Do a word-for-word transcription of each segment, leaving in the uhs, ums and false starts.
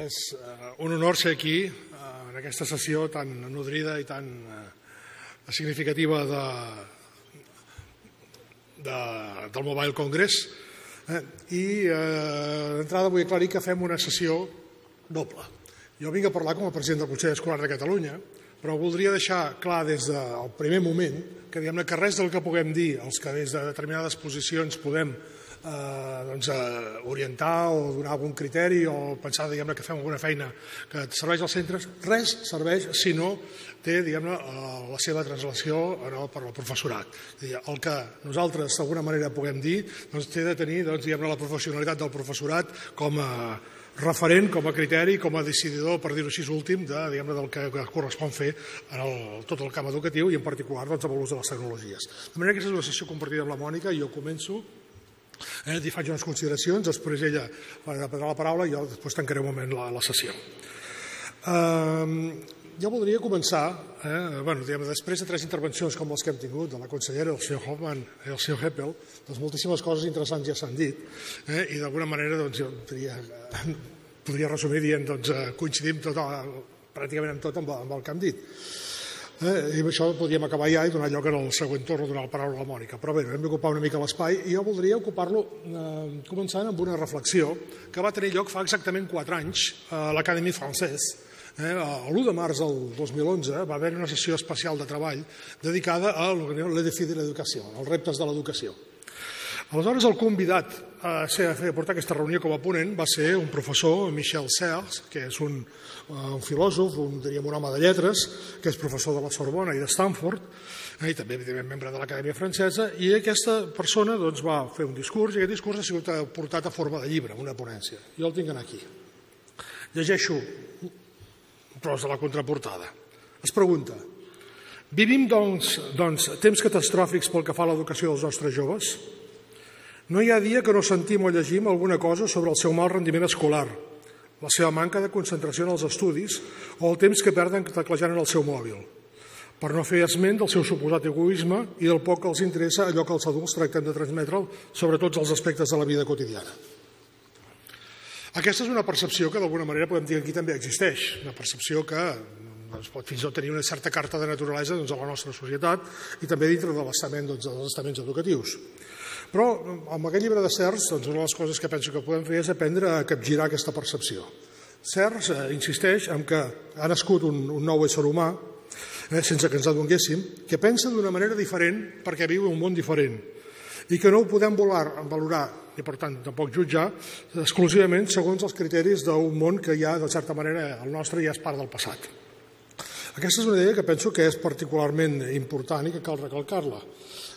És un honor ser aquí, en aquesta sessió tan nodrida i tan significativa de, de, del Mobile Congress. I eh, d'entrada vull aclarir que fem una sessió doble. Jo vinc a parlar com a president del Consell Escolar de Catalunya, però voldria deixar clar des del primer moment que, diguem-ne, que res del que puguem dir, els que des de determinades posicions podem Eh, doncs, eh, orientar o donar algun criteri o pensar, diguem-ne, que fem alguna feina que serveix als centres, res serveix si no té, diguem-ne, la seva translació no, per al professorat. El que nosaltres d'alguna manera puguem dir doncs, té de tenir doncs, diguem-ne, la professionalitat del professorat com a referent, com a criteri, com a decididor, per dir-ho així, últim de, diguem-ne, del que correspon fer en el, tot el camp educatiu i en particular doncs, amb l'ús de les tecnologies. De manera que aquesta és una sessió compartida amb la Mònica i jo començo. Eh, li faig unes consideracions, després ella prendrà la paraula i jo després tancaré un moment la, la sessió. Eh, jo voldria començar, eh, bueno, diguem, després de tres intervencions com les que hem tingut, de la consellera, el senyor Hoffman i el senyor Heppel, doncs moltíssimes coses interessants ja s'han dit, eh, i d'alguna manera doncs, jo podria, podria resumir dient doncs, coincidim tot, pràcticament amb tot amb, amb el que hem dit. Eh, I amb això podríem acabar ja i donar lloc en el següent torn a donar la paraula a la Mònica. Però bé, hem d'ocupar una mica l'espai i jo voldria ocupar-lo eh, començant amb una reflexió que va tenir lloc fa exactament quatre anys a l'Académie Française. Eh, l'u de març del dos mil onze va haver una sessió especial de treball dedicada a le défi de l'educació, als reptes de l'educació. Aleshores, el convidat a, ser, a, fer, a portar aquesta reunió com a ponent va ser un professor, Michel Serres, que és un, un filòsof, un, diríem, un home de lletres, que és professor de la Sorbona i de Stanford, eh, i també, evidentment, membre de l'Acadèmia Francesa, i aquesta persona doncs, va fer un discurs, i aquest discurs ha sigut portat a forma de llibre, una ponència. Jo el tinc aquí. Llegeixo un tros de la contraportada. Es pregunta: vivim, doncs, doncs, temps catastròfics pel que fa a l'educació dels nostres joves? No hi ha dia que no sentim o llegim alguna cosa sobre el seu mal rendiment escolar, la seva manca de concentració en els estudis o el temps que perden teclejant en el seu mòbil, per no fer esment del seu suposat egoisme i del poc que els interessa allò que els adults tractem de transmetre sobre tots els aspectes de la vida quotidiana. Aquesta és una percepció que d'alguna manera podem dir que aquí també existeix, una percepció que doncs, pot fins i tot tenir una certa carta de naturalesa doncs, a la nostra societat i també dintre de l'estament doncs, dels estaments educatius. Però amb aquest llibre de Serres, doncs, una de les coses que penso que podem fer és aprendre a capgirar aquesta percepció. Serres eh, insisteix en que ha nascut un, un nou ésser humà, eh, sense que ens adonguéssim, que pensa d'una manera diferent perquè viu en un món diferent i que no ho podem volar, valorar i per tant tampoc jutjar exclusivament segons els criteris d'un món que ja de certa manera el nostre ja és part del passat. Aquesta és una idea que penso que és particularment important i que cal recalcar-la.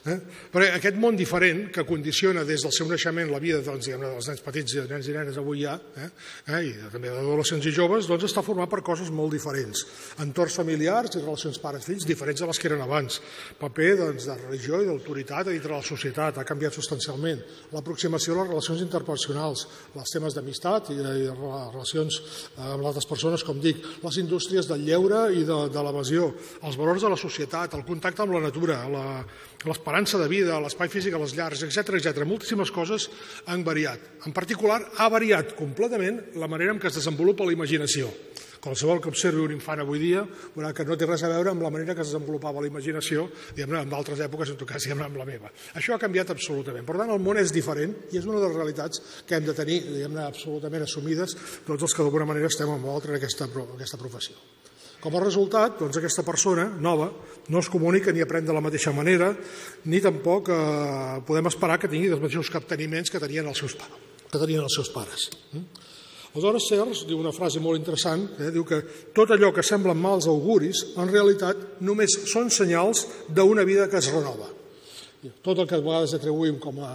Eh? Però aquest món diferent que condiciona des del seu naixement la vida doncs, diguem, dels nens petits i nens i nenes avui ja, eh? Eh? i també d'adolescents i joves, doncs està format per coses molt diferents. Entorns familiars i relacions pares-fills diferents de les que eren abans. Paper doncs, de religió i d'autoritat dintre de la societat ha canviat substancialment. L'aproximació a les relacions interpersonals, els temes d'amistat i, i relacions amb altres persones, com dic, les indústries del lleure i de, de l'evasió, els valors de la societat, el contacte amb la natura, la, l'esperança de vida, l'espai físic a les llars, etcètera, etcètera. Moltíssimes coses han variat. En particular, ha variat completament la manera en què es desenvolupa la imaginació. Qualsevol que observi un infant avui dia veurà que no té res a veure amb la manera que es desenvolupava la imaginació en d'altres èpoques, en tot cas, amb la meva. Això ha canviat absolutament. Per tant, el món és diferent i és una de les realitats que hem de tenir absolutament assumides tots els que d'alguna manera estem en l'altre en aquesta, aquesta professió. Com a resultat, doncs, aquesta persona nova no es comunica ni aprèn de la mateixa manera, ni tampoc eh, podem esperar que tingui els mateixos capteniments que tenien els seus, que tenien els seus pares. Aleshores, Serres diu una frase molt interessant, eh, diu que tot allò que semblen mals auguris, en realitat només són senyals d'una vida que es renova. Tot el que a vegades atribuïm com a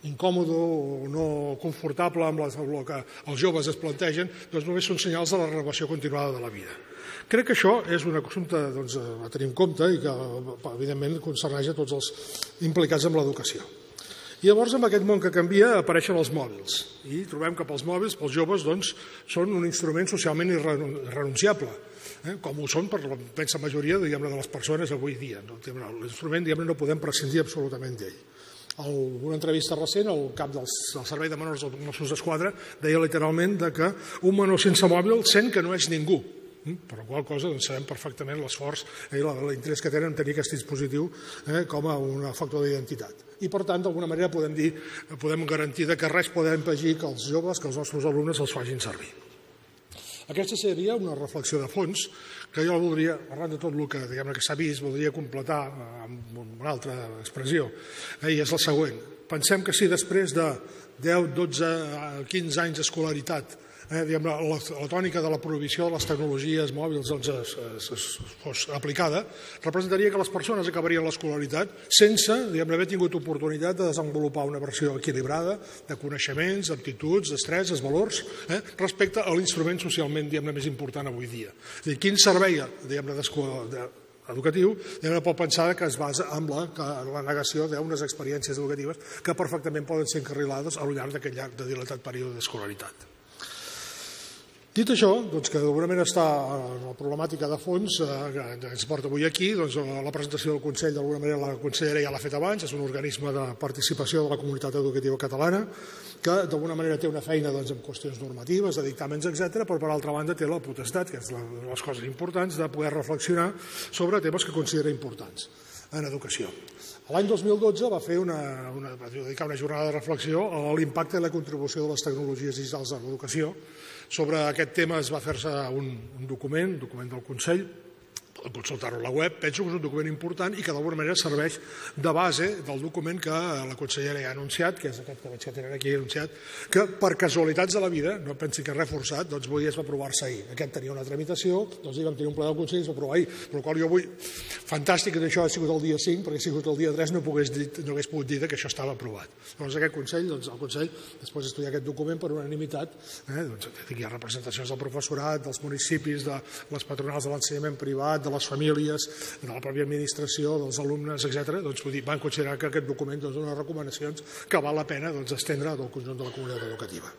incòmode o no confortable amb el que els joves es plantegen, doncs només són senyals de la renovació continuada de la vida. Crec que això és un assumpte doncs, a tenir en compte i que, evidentment, concerneix a tots els implicats en l'educació. I llavors, amb aquest món que canvia, apareixen els mòbils. I trobem que pels mòbils, pels joves, doncs, són un instrument socialment irrenunciable, eh? com ho són per la immensa majoria diguem-ne, de les persones avui dia. No? L'instrument diguem-ne, no podem prescindir absolutament d'ell. una entrevista recent, el cap del Servei de Menors dels Mossos d'Esquadra deia literalment que un menor sense mòbil sent que no és ningú, per la qual cosa sabem perfectament l'esforç i l'interès que tenen en tenir aquest dispositiu com a un factor d'identitat. I per tant, d'alguna manera podem dir, podem garantir que res podem impedir que els joves, que els nostres alumnes els facin servir. Aquesta seria una reflexió de fons que jo voldria, arran de tot el que, que s'ha vist, voldria completar amb una altra expressió, i és la següent. Pensem que si després de deu, dotze, quinze anys d'escolaritat la tònica de la prohibició de les tecnologies mòbils fos aplicada, representaria que les persones acabarien l'escolaritat sense haver tingut oportunitat de desenvolupar una versió equilibrada de coneixements, aptituds, destreses, valors, respecte a l'instrument socialment més important avui dia. Quin servei educatiu pot pensar que es basa en la negació d'unes experiències educatives que perfectament poden ser encarrilades al llarg d'aquest llarg de dilatat període d'escolaritat. Dit això, que d'alguna manera està la problemàtica de fons que ens porta avui aquí, la presentació del Consell d'alguna manera la consellera ja l'ha fet abans, és un organisme de participació de la comunitat educativa catalana que d'alguna manera té una feina en qüestions normatives, de dictàmens, etcètera, però per altra banda té la potestat, que és una de les coses importants, de poder reflexionar sobre temes que considera importants en educació. L'any dos mil dotze va fer una, una, va dedicar una jornada de reflexió a l'impacte i la contribució de les tecnologies digitals en l'educació. Sobre aquest tema es va fer-se un, un document, un document del Consell, poden consultar-ho a la web, penso que és un document important i que d'alguna manera serveix de base del document que la consellera ja ha anunciat, que és aquest que veig que tenen aquí anunciat, que per casualitats de la vida, no pensi que és reforçat, doncs avui es va aprovar-se ahir. Aquest tenia una tramitació, doncs vam tenir un ple del Consell i es va aprovar ahir, per la qual jo vull, fantàstic que això ha sigut el dia cinc, perquè si ha sigut el dia tres no, dit, no hagués pogut dir que això estava aprovat. Llavors aquest Consell, doncs el Consell, després d'estudiar aquest document per unanimitat, eh, doncs, hi ha representacions del professorat, dels municipis, de les patronals de l'ensenyament privat, de les famílies, de la pròpia administració, dels alumnes, etcètera, doncs van considerar que aquest document dona recomanacions que val la pena estendre del conjunt de la comunitat educativa.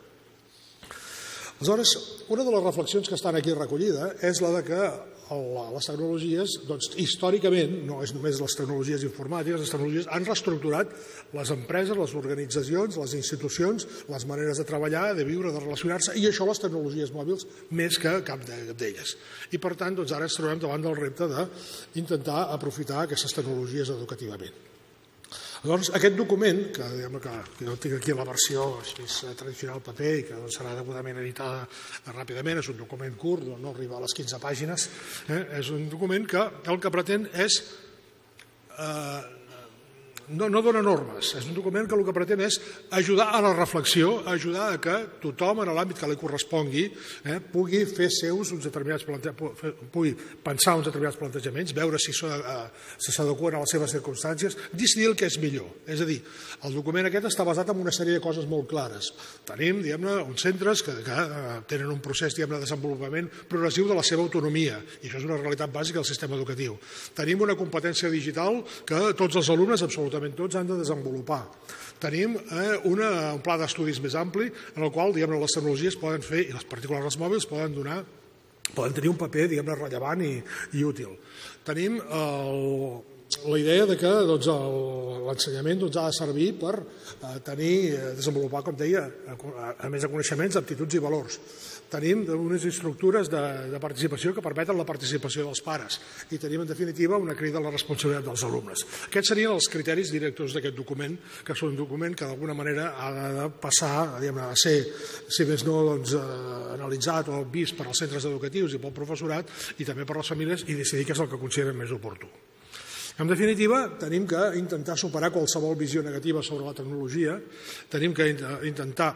Aleshores, una de les reflexions que estan aquí recollida és la de que les tecnologies, doncs, històricament, no és només les tecnologies informàtiques, les tecnologies han reestructurat les empreses, les organitzacions, les institucions, les maneres de treballar, de viure, de relacionar-se, i això les tecnologies mòbils més que cap d'elles. I per tant, doncs, ara ens trobem davant del repte d'intentar aprofitar aquestes tecnologies educativament. Llavors, aquest document, que, que, que jo tinc aquí la versió així, tradicional paper i que doncs, serà degudament editada ràpidament, és un document curt, no arriba a les quinze pàgines, eh, és un document que el que pretén és... Eh, no, no dona normes, és un document que el que pretén és ajudar a la reflexió, ajudar a que tothom en l'àmbit que li correspongui eh, pugui fer seus uns determinats plantejaments, pugui pensar uns determinats plantejaments, veure si s'adequen a les seves circumstàncies, decidir el que és millor. És a dir, el document aquest està basat en una sèrie de coses molt clares. Tenim, diguem-ne, uns centres que, que tenen un procés, diguem-ne, de desenvolupament progressiu de la seva autonomia, i això és una realitat bàsica del sistema educatiu. Tenim una competència digital que tots els alumnes, absolutament tots, han de desenvolupar. Tenim eh, una, un pla d'estudis més ampli en el qual, diguem-ne, les tecnologies poden fer, i les particulars els mòbils poden donar, poden tenir un paper, diguem-ne, rellevant i, i útil. Tenim el, la idea de que doncs, l'ensenyament doncs, ha de servir per eh, tenir, desenvolupar, com deia, a, a més de coneixements, aptituds i valors. Tenim unes estructures de, de participació que permeten la participació dels pares i tenim, en definitiva, una crida a la responsabilitat dels alumnes. Aquests serien els criteris directors d'aquest document, que són un document que d'alguna manera ha de passar, a ser, si més no, doncs, eh, analitzat o vist per als centres educatius i pel professorat i també per les famílies i decidir què és el que consideren més oportú. En definitiva, tenim que intentar superar qualsevol visió negativa sobre la tecnologia, tenim que intentar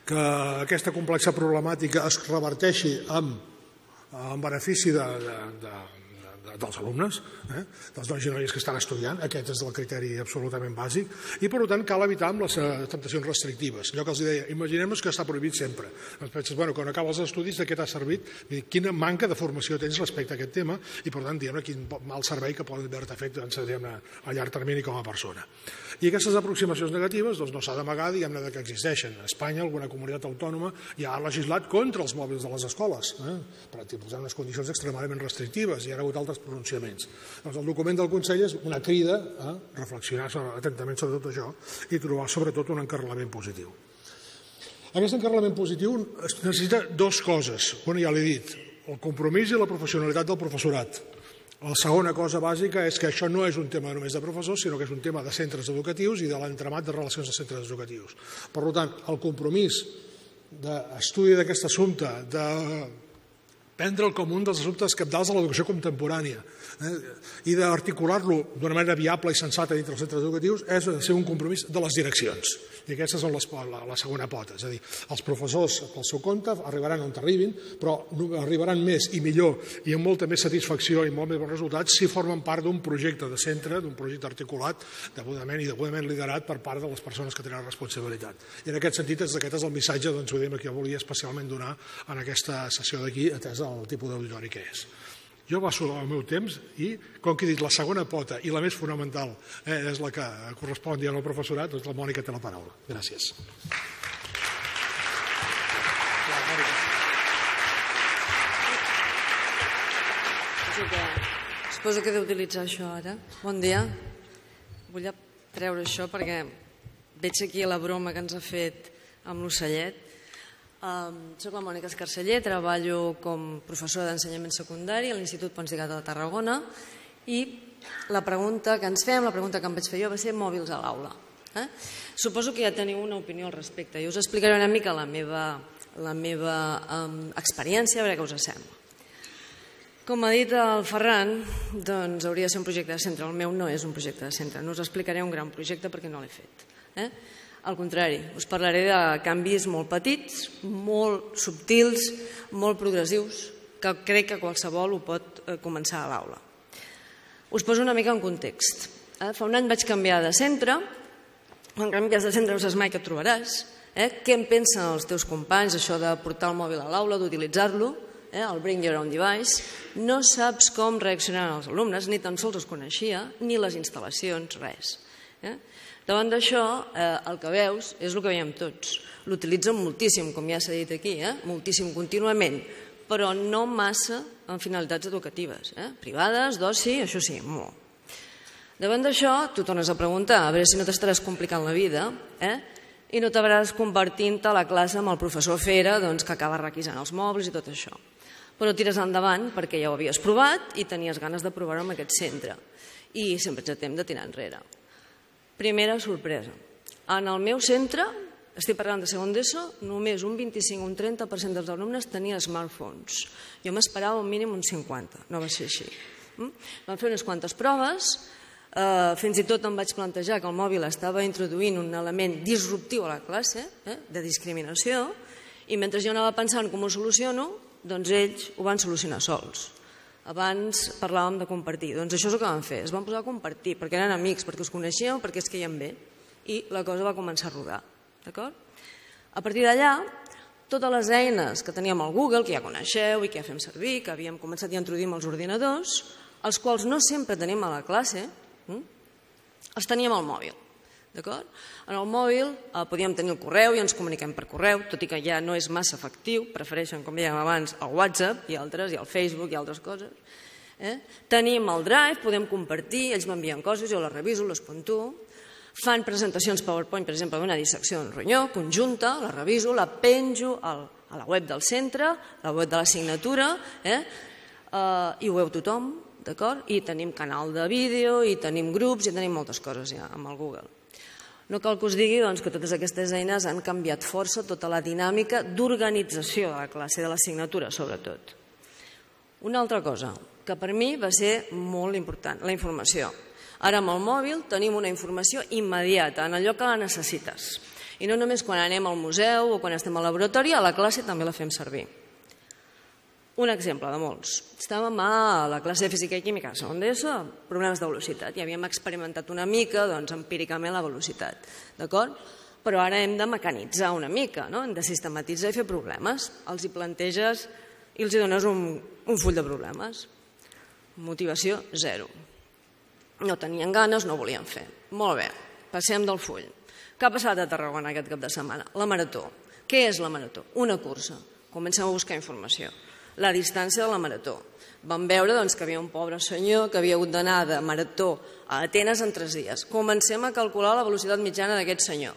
que aquesta complexa problemàtica es reverteixi en, en benefici de, de, de, de, dels alumnes, eh? dels nois i noies que estan estudiant. Aquest és el criteri absolutament bàsic. I, per tant, cal evitar amb les temptacions restrictives. Allò que els deia, imaginem-nos que està prohibit sempre. Doncs penses, bueno, quan acabes els estudis, de què t'ha servit? Quina manca de formació tens respecte a aquest tema i, per tant, diguem-ne, quin mal servei que poden haver-te fet doncs, a llarg termini com a persona. I aquestes aproximacions negatives doncs, no s'ha d'amagar, diguem-ne, que existeixen. A Espanya, alguna comunitat autònoma ja ha legislat contra els mòbils de les escoles, eh? per posar unes condicions extremadament restrictives. Hi ha hagut altres altres pronunciaments. Doncs el document del Consell és una crida a reflexionar atentament sobre tot això i trobar sobretot un encarrilament positiu. Aquest encarrilament positiu necessita dues coses. Una ja l'he dit, el compromís i la professionalitat del professorat. La segona cosa bàsica és que això no és un tema només de professors, sinó que és un tema de centres educatius i de l'entramat de relacions de centres educatius. Per tant, el compromís d'estudi d'aquest assumpte, de prendre'l com un dels assumptes cabdals de l'educació contemporània i d'articular-lo d'una manera viable i sensata dintre dels centres educatius és ser un compromís de les direccions. I aquesta és la segona pota. És a dir, els professors, pel seu compte, arribaran on arribin, però arribaran més i millor i amb molta més satisfacció i molt més bons resultats si formen part d'un projecte de centre, d'un projecte articulat, degudament i degudament liderat per part de les persones que tenen responsabilitat. I en aquest sentit, aquest és el missatge que jo volia especialment donar en aquesta sessió d'aquí, atès el tipus d'auditori que és. Jo passo el meu temps i, com que he dit, la segona pota i la més fonamental és la que correspon al professorat, doncs la Mònica té la paraula. Gràcies. Suposo que he d'utilitzar això ara. Bon dia. Vull treure això perquè veig aquí la broma que ens ha fet amb l'ocellet. Um, soc la Mònica Escarceller, treballo com professora d'ensenyament secundari a l'Institut Pons de Gata de Tarragona i la pregunta que ens fem, la pregunta que em vaig fer jo va ser mòbils a l'aula. Eh? Suposo que ja teniu una opinió al respecte. Jo us explicaré una mica la meva, la meva um, experiència, a veure què us sembla. Com ha dit el Ferran, doncs hauria de ser un projecte de centre. El meu no és un projecte de centre. No us explicaré un gran projecte perquè no l'he fet. Eh? Al contrari, us parlaré de canvis molt petits, molt subtils, molt progressius, que crec que qualsevol ho pot començar a l'aula. Us poso una mica en context. Fa un any vaig canviar de centre, quan canvies de centre no saps mai què et trobaràs. Què en pensen els teus companys, això de portar el mòbil a l'aula, d'utilitzar-lo, el bring your own device. No saps com reaccionaran els alumnes, ni tan sols els coneixia, ni les instal·lacions, res. Davant d'això, el que veus és el que veiem tots. L'utilitzen moltíssim, com ja s'ha dit aquí, moltíssim contínuament, però no massa en finalitats educatives, privades, d'oci, això sí, molt. Davant d'això, tu tornes a preguntar, a veure si no t'estaràs complicant la vida i no t'hauràs convertint a la classe amb el professor Fera que acaba requisant els mòbils i tot això. Però tires endavant perquè ja ho havies provat i tenies ganes de provar-ho en aquest centre i sempre ets a temps de tirar enrere. Primera sorpresa. En el meu centre, estic parlant de segon d'ESO, només un vint-i-cinc o un trenta per cent dels alumnes tenien smartphones. Jo m'esperava un mínim un cinquanta, no va ser així. Vam fer unes quantes proves, fins i tot em vaig plantejar que el mòbil estava introduint un element disruptiu a la classe, de discriminació, i mentre jo anava pensant com ho soluciono, doncs ells ho van solucionar sols. Abans parlàvem de compartir. Doncs això és el que vam fer. Es van posar a compartir perquè eren amics, perquè us coneixíeu, perquè es queien bé. I la cosa va començar a rodar. D'acord? A partir d'allà, totes les eines que teníem al Google, que ja coneixeu i que ja fem servir, que havíem començat ja a introduir amb els ordinadors, els quals no sempre tenim a la classe, els teníem al mòbil. D'acord? En el mòbil podíem tenir el correu i ens comuniquem per correu, tot i que ja no és massa efectiu, prefereixen, com dèiem abans, el WhatsApp i altres, i el Facebook i altres coses. Tenim el Drive, podem compartir, ells m'envien coses, jo les reviso, les puntuo. Fan presentacions PowerPoint, per exemple, d'una dissecció d'un ronyó, conjunta, la reviso, la penjo a la web del centre, a la web de l'assignatura, i ho veu tothom, d'acord? I tenim canal de vídeo, i tenim grups, i tenim moltes coses ja amb el Google. No cal que us digui que totes aquestes eines han canviat força tota la dinàmica d'organització de la classe, de l'assignatura, sobretot. Una altra cosa, que per mi va ser molt important, la informació. Ara amb el mòbil tenim una informació immediata, en allò que la necessites. I no només quan anem al museu o quan estem al laboratori, a la classe també la fem servir. Un exemple de molts. Estàvem a la classe de Física i Química, segon d'ESO, problemes de velocitat, i havíem experimentat una mica empíricament la velocitat, d'acord? Però ara hem de mecanitzar una mica, hem de sistematitzar i fer problemes. Els hi planteges i els hi dones un full de problemes. Motivació zero. No tenien ganes, no volien fer. Molt bé, passem del full. Què ha passat a Tarragona aquest cap de setmana? La marató. Què és la marató? Una cursa. Comencem a buscar informació. la distància de la marató. Vam veure que hi havia un pobre senyor que havia hagut d'anar de marató a Atenes en tres dies. Comencem a calcular la velocitat mitjana d'aquest senyor.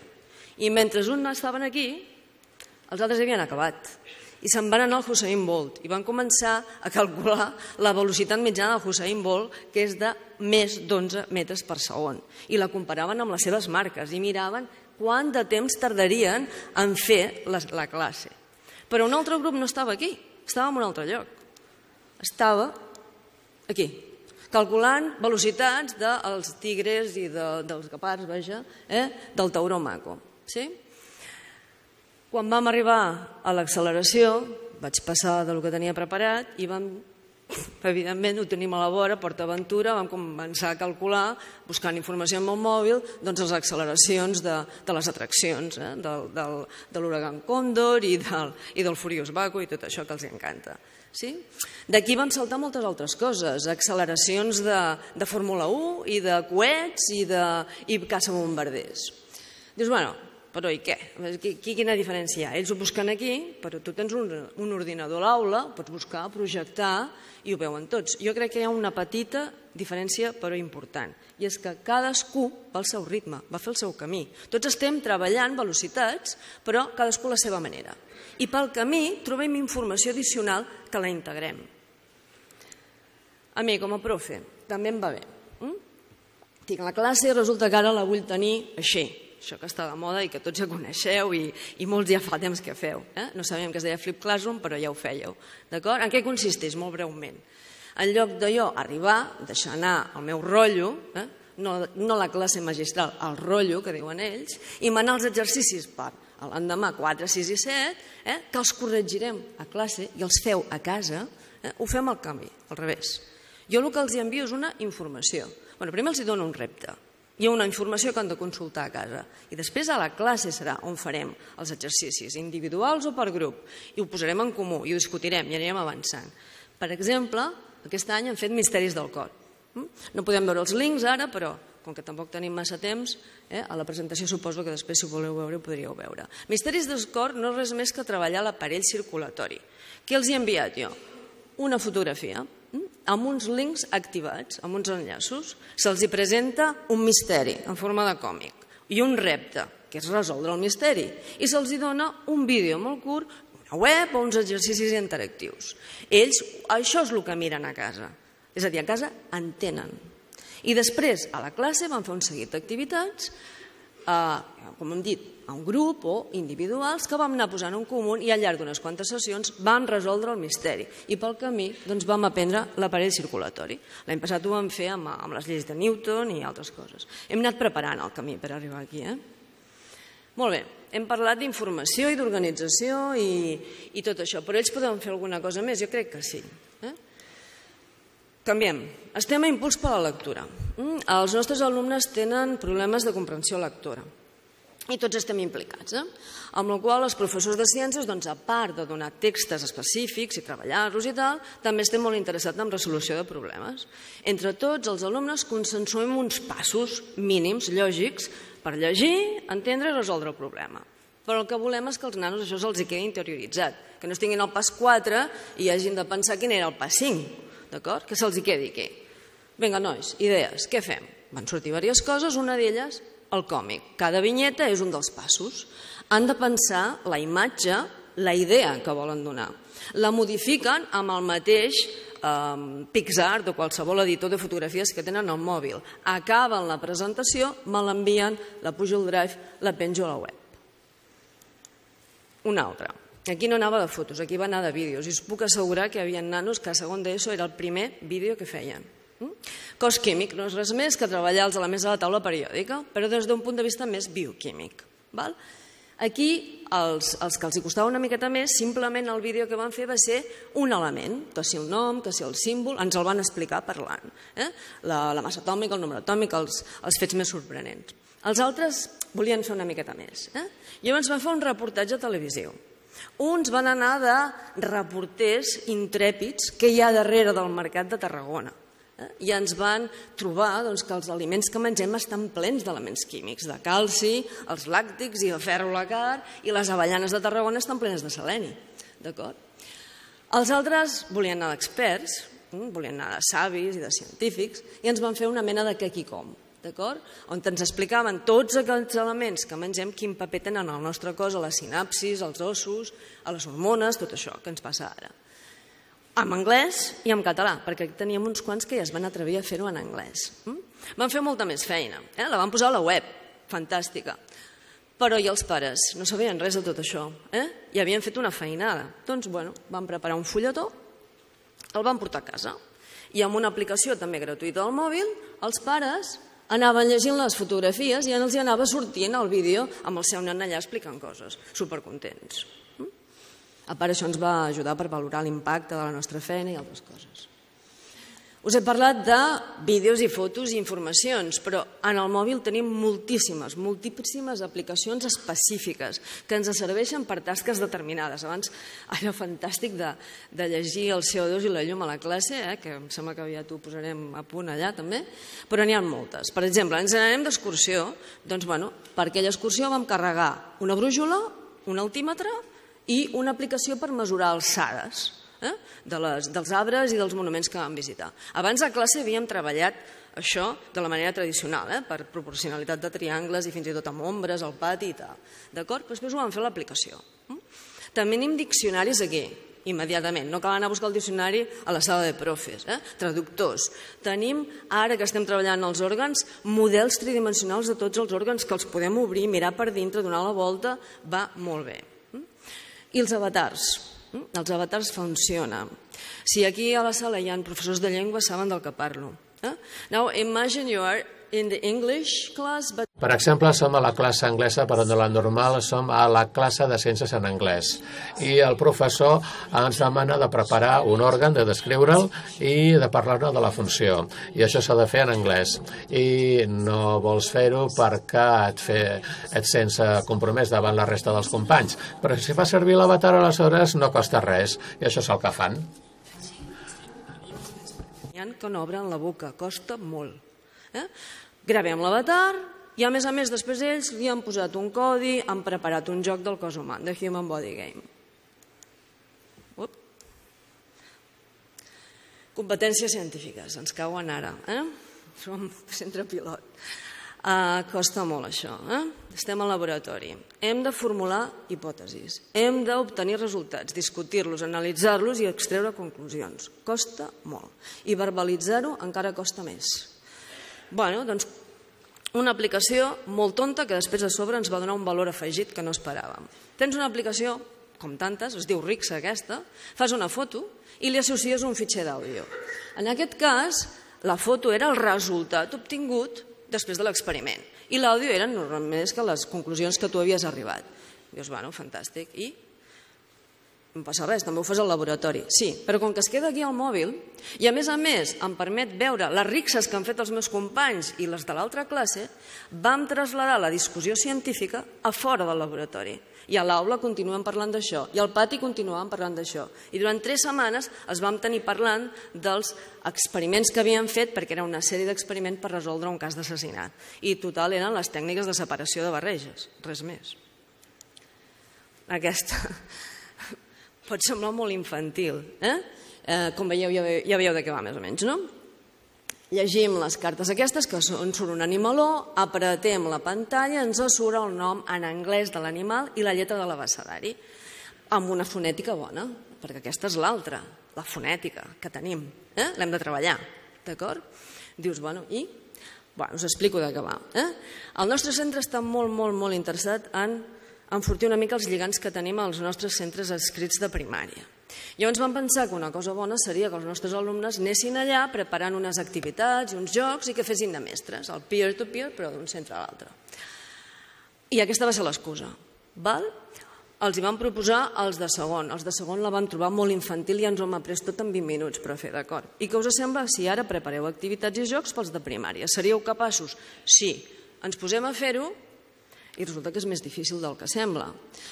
I mentre uns estaven aquí, els altres havien acabat. I se'n van anar al Usain Bolt i van començar a calcular la velocitat mitjana del Usain Bolt, que és de més d'onze metres per segon. I la comparaven amb les seves marques i miraven quant de temps tardarien en fer la classe. Però un altre grup no estava aquí, estava en un altre lloc. Estava aquí, calculant velocitats dels tigres i dels guepards, vaja, del tauró maco. Quan vam arribar a l'acceleració, vaig passar del que tenia preparat i vam, evidentment, ho tenim a la vora, PortAventura, vam començar a calcular, buscant informació amb el mòbil, doncs les acceleracions de les atraccions, de l'huracan Còndor i del Furious Baco i tot això que els encanta. D'aquí vam saltar moltes altres coses, acceleracions de Fórmula u i de coets i caça-bombarders. Dius, bueno, però i què? Quina diferència hi ha? Ells ho busquen aquí, però tu tens un ordinador a l'aula, pots buscar, projectar i ho veuen tots. Jo crec que hi ha una petita diferència però important, i és que cadascú va al seu ritme, va fer el seu camí. Tots estem treballant velocitats, però cadascú a la seva manera. I pel camí trobem informació addicional que la integrem. A mi, com a profe, també em va bé. Tinc la classe i resulta que ara la vull tenir així, això que està de moda i que tots ja coneixeu i molts ja fa temps que feu. No sabíem que es deia Flip Classroom, però ja ho fèieu. D'acord? En què consisteix? Molt breument. En lloc de jo arribar, deixar anar el meu rotllo, no la classe magistral, el rotllo, que diuen ells, i manar els exercicis per l'endemà quatre, sis i set, que els corregirem a classe i els feu a casa, ho fem al canvi, al revés. Jo el que els envio és una informació. Primer els dono un repte. Hi ha una informació que han de consultar a casa i després a la classe serà on farem els exercicis, individuals o per grup, i ho posarem en comú i ho discutirem i anirem avançant. Per exemple, aquest any han fet Misteris del cor. No podem veure els links ara, però com que tampoc tenim massa temps, a la presentació suposo que després si ho voleu veure ho podríeu veure. Misteris del cor no és res més que treballar l'aparell circulatori. Què els he enviat jo? Una fotografia amb uns links activats, amb uns enllaços. Se'ls presenta un misteri en forma de còmic i un repte, que és resoldre el misteri. I se'ls dona un vídeo molt curt, una web o uns exercicis interactius. Ells això és el que miren a casa. És a dir, a casa entenen. I després, a la classe, van fer un seguit d'activitats, com hem dit, a un grup o individuals que vam anar posant en comú i al llarg d'unes quantes sessions vam resoldre el misteri. I pel camí vam aprendre l'aparell circulatori. L'any passat ho vam fer amb les lleis de Newton i altres coses. Hem anat preparant el camí per arribar aquí. Molt bé, hem parlat d'informació i d'organització i tot això, però ells poden fer alguna cosa més? Jo crec que sí. Canviem. Estem a impuls per la lectura. Els nostres alumnes tenen problemes de comprensió lectora i tots estem implicats, amb la qual els professors de ciències, a part de donar textos específics i treballar-los i tal, també estem molt interessats en resolució de problemes. Entre tots els alumnes consensuem uns passos mínims, lògics, per llegir, entendre i resoldre el problema. Però el que volem és que els nanos això se'ls quedi interioritzat, que no estiguin al pas quatre i hagin de pensar quin era el pas cinc, d'acord? Que se'ls quedi aquí. Vinga, nois, idees, què fem? Van sortir diverses coses, una d'elles, el còmic. Cada vinyeta és un dels passos. Han de pensar la imatge, la idea que volen donar. La modifiquen amb el mateix PixArt o qualsevol editor de fotografies que tenen al mòbil. Acaben la presentació, me l'envien, la pujo al Drive, la penjo a la web. Una altra. Aquí no anava de fotos, aquí va anar de vídeos. I us puc assegurar que hi havia nanos que a segon d'ESO era el primer vídeo que feien. Cos químic no és res més que treballar els elements de la taula periòdica, però des d'un punt de vista més bioquímic. Aquí, els que els costava una miqueta més, simplement el vídeo que van fer va ser un element, que si el nom, que si el símbol, ens el van explicar parlant. La massa atòmica, el número atòmic, els fets més sorprenents. Els altres volien fer una miqueta més. Llavors van fer un reportatge televisiu. Uns van anar de reporters intrèpids que hi ha darrere del mercat de Tarragona i ens van trobar que els aliments que mengem estan plens d'elements químics, de calci, els làctics i de ferro lacar, i les avellanes de Tarragona estan plenes de seleni. Els altres volien anar d'experts, volien anar de savis i de científics, i ens van fer una mena de què qui com, d'acord? On ens explicaven tots aquells elements que mengem, quin paper tenen al nostre cos, a les sinapsis, als ossos, a les hormones, tot això que ens passa ara. En anglès i en català, perquè teníem uns quants que ja es van atrevir a fer-ho en anglès. Van fer molta més feina, la van posar a la web, fantàstica. Però i els pares? No sabien res de tot això, i havien fet una feinada. Doncs, bueno, van preparar un fulletó, el van portar a casa, i amb una aplicació també gratuïta al mòbil, els pares anaven llegint les fotografies i els anava sortint el vídeo amb el seu nen allà explicant coses, supercontents. A part, això ens va ajudar per valorar l'impacte de la nostra feina i altres coses. Us he parlat de vídeos i fotos i informacions, però en el mòbil tenim moltíssimes, moltíssimes aplicacions específiques que ens serveixen per tasques determinades. Abans era fantàstic de llegir el C O dos i la llum a la classe, que em sembla que aviat ho posarem a punt allà també, però n'hi ha moltes. Per exemple, ens n'anem d'excursió, doncs, bueno, per aquella excursió vam carregar una brújula, un altímetre i una aplicació per mesurar alçades dels arbres i dels monuments que vam visitar. Abans a classe havíem treballat això de la manera tradicional, per proporcionalitat de triangles i fins i tot amb ombres al pati i tal. D'acord? Després ho vam fer a l'aplicació. També tenim diccionaris aquí, immediatament. No cal anar a buscar el diccionari a la sala de profes. Traductors. Tenim, ara que estem treballant els òrgans, models tridimensionals de tots els òrgans que els podem obrir, mirar per dintre, donar la volta, va molt bé. I els avatars. Els avatars funcionen. Si aquí a la sala hi ha professors de llengua, saben del que parlo. Now, imagine you are in the English class, but... Per exemple, som a la classe anglesa, però no la normal, som a la classe de ciències en anglès. I el professor ens demana de preparar un òrgan, de descriure'l i de parlar-ne de la funció. I això s'ha de fer en anglès. I no vols fer-ho perquè et, fe, et sents compromès davant la resta dels companys. Però si fa servir l'avatar, aleshores no costa res. I això és el que fan. Hi ha que no obren la boca, costa molt. Gravem l'avatar i, a més a més, després ells li han posat un codi, han preparat un joc del cos humà, The Human Body Game. Competències científiques, ens cauen ara. Som centre pilot. Costa molt això. Estem al laboratori. Hem de formular hipòtesis. Hem d'obtenir resultats, discutir-los, analitzar-los i extreure conclusions. Costa molt. I verbalitzar-ho encara costa més. Bueno, doncs una aplicació molt tonta que després a sobre ens va donar un valor afegit que no esperàvem. Tens una aplicació, com tantes, es diu Rixa aquesta, fas una foto i li associes un fitxer d'àudio. En aquest cas, la foto era el resultat obtingut després de l'experiment i l'àudio eren només que les conclusions que tu havies arribat. Dius, bueno, fantàstic. I no passa res, també ho fas al laboratori. Sí, però com que es queda aquí al mòbil, i a més a més em permet veure les rixes que han fet els meus companys i les de l'altra classe, vam traslladar la discussió científica a fora del laboratori. I a l'aula continuem parlant d'això, i al pati continuàvem parlant d'això. I durant tres setmanes es vam tenir parlant dels experiments que havíem fet, perquè era una sèrie d'experiments per resoldre un cas d'assassinat. I total eren les tècniques de separació de barreges, res més. Aquesta... pot semblar molt infantil. Com veieu, ja veieu de què va més o menys, no? Llegim les cartes aquestes, que on surt un animaló, apretem la pantalla, ens surt el nom en anglès de l'animal i la lletra de l'abecedari, amb una fonètica bona, perquè aquesta és l'altra, la fonètica que tenim. L'hem de treballar, d'acord? Dius, bueno, i? Us explico de què va. El nostre centre està molt, molt, molt interessat en enfortir una mica els lligams que tenim als nostres centres adscrits de primària. Llavors vam pensar que una cosa bona seria que els nostres alumnes anessin allà preparant unes activitats i uns jocs i que fessin de mestres, el peer-to-peer, però d'un centre a l'altre. I aquesta va ser l'excusa. Els hi vam proposar els de segon. Els de segon la vam trobar molt infantil i ens ho hem après tot en vint minuts, però fer d'acord. I què us sembla si ara prepareu activitats i jocs pels de primària? Seríeu capaços? Sí. Ens posem a fer-ho I resulta que és més difícil del que sembla,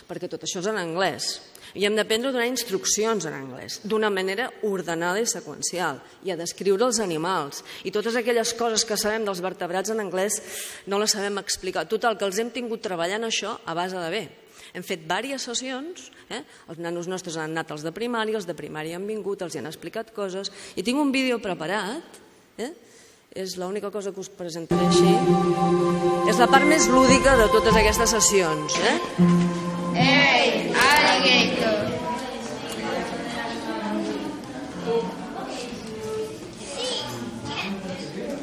perquè tot això és en anglès. I hem d'aprendre a donar instruccions en anglès, d'una manera ordenada i seqüencial, i a descriure els animals. I totes aquelles coses que sabem dels vertebrats en anglès no les sabem explicar. Total, que els hem tingut treballant això a base de bé. Hem fet diverses sessions, eh? Els nanos nostres han anat als de primària, els de primària han vingut, els hi han explicat coses, i tinc un vídeo preparat, eh? És l'única cosa que us presentaré així. És la part més lúdica de totes aquestes sessions. Eh? Hey, alligator.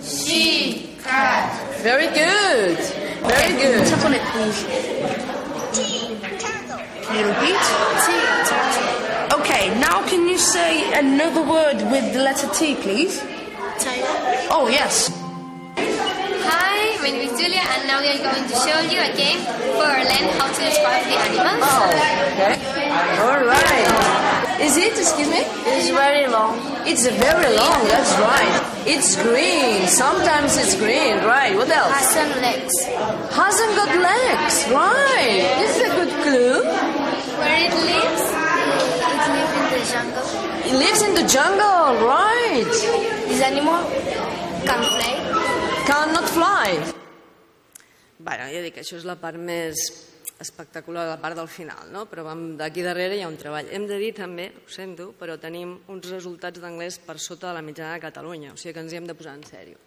Sheep, cat. Very good. Very good. Tap on it, please. Can you repeat? Okay, now can you say another word with the letter T, please? Oh, yes. Hi, my name is Julia, and now we are going to show you a game for learn how to describe the animals. Oh, okay. All right. Is it, excuse me? It's very long. It's very long, that's right. It's green. Sometimes it's green, right. What else? Has some legs. Hasn't got legs, right. This is a good clue. Where it lives? It lives in the jungle. It lives in the jungle, right. This animal can fly. Cannot fly. Bueno, ja dic, això és la part més espectacular, la part del final, no? Però d'aquí darrere hi ha un treball. Hem de dir també, ho sento, però tenim uns resultats d'anglès per sota de la mitjana de Catalunya, o sigui que ens hi hem de posar en sèrio.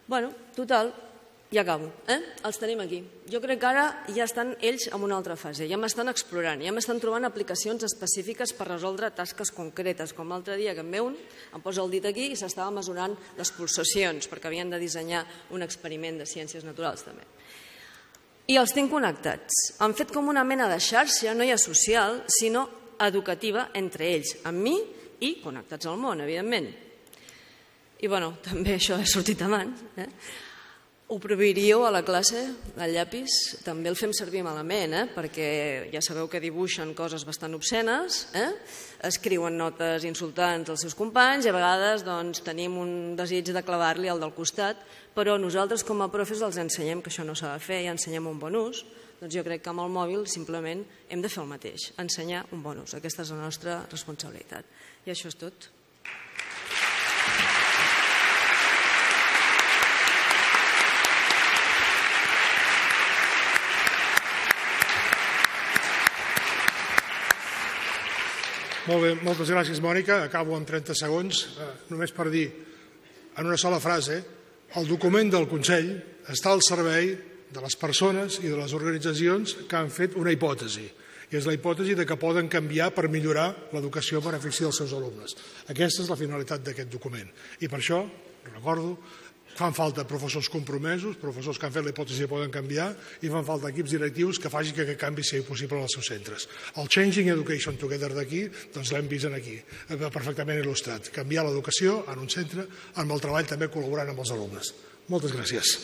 Bueno, total, ja acabo, eh? Els tenim aquí. Jo crec que ara ja estan ells en una altra fase, ja m'estan explorant, ja m'estan trobant aplicacions específiques per resoldre tasques concretes, com l'altre dia que em ve un, em posa el dit aquí i s'estava mesurant les pulsacions, perquè havien de dissenyar un experiment de ciències naturals també. I els tinc connectats. Han fet com una mena de xarxa, no ja social, sinó educativa entre ells, amb mi i connectats al món, evidentment. I, bueno, també això ha sortit abans, eh? Ho prohibiríeu a la classe, el llapis, també el fem servir malament, eh? Perquè ja sabeu que dibuixen coses bastant obscenes, eh? Escriuen notes insultants als seus companys i a vegades doncs, tenim un desig de clavar-li al del costat, però nosaltres com a profes els ensenyem que això no s'ha de fer i ensenyem un bon ús. Doncs jo crec que amb el mòbil simplement hem de fer el mateix, ensenyar un bon ús. Aquesta és la nostra responsabilitat. I això és tot. Molt bé, moltes gràcies, Mònica. Acabo en trenta segons, eh, només per dir, en una sola frase, el document del Consell està al servei de les persones i de les organitzacions que han fet una hipòtesi, i és la hipòtesi de que poden canviar per millorar l'educació a benefici dels seus alumnes. Aquesta és la finalitat d'aquest document. I per això, recordo, fan falta professors compromesos, professors que han fet la hipòtesi que poden canviar, i fan falta equips directius que facin que aquest canvi sigui possible als seus centres. El Changing Education Together d'aquí, doncs l'hem vist aquí, perfectament il·lustrat. Canviar l'educació en un centre, amb el treball també col·laborant amb els alumnes. Moltes gràcies.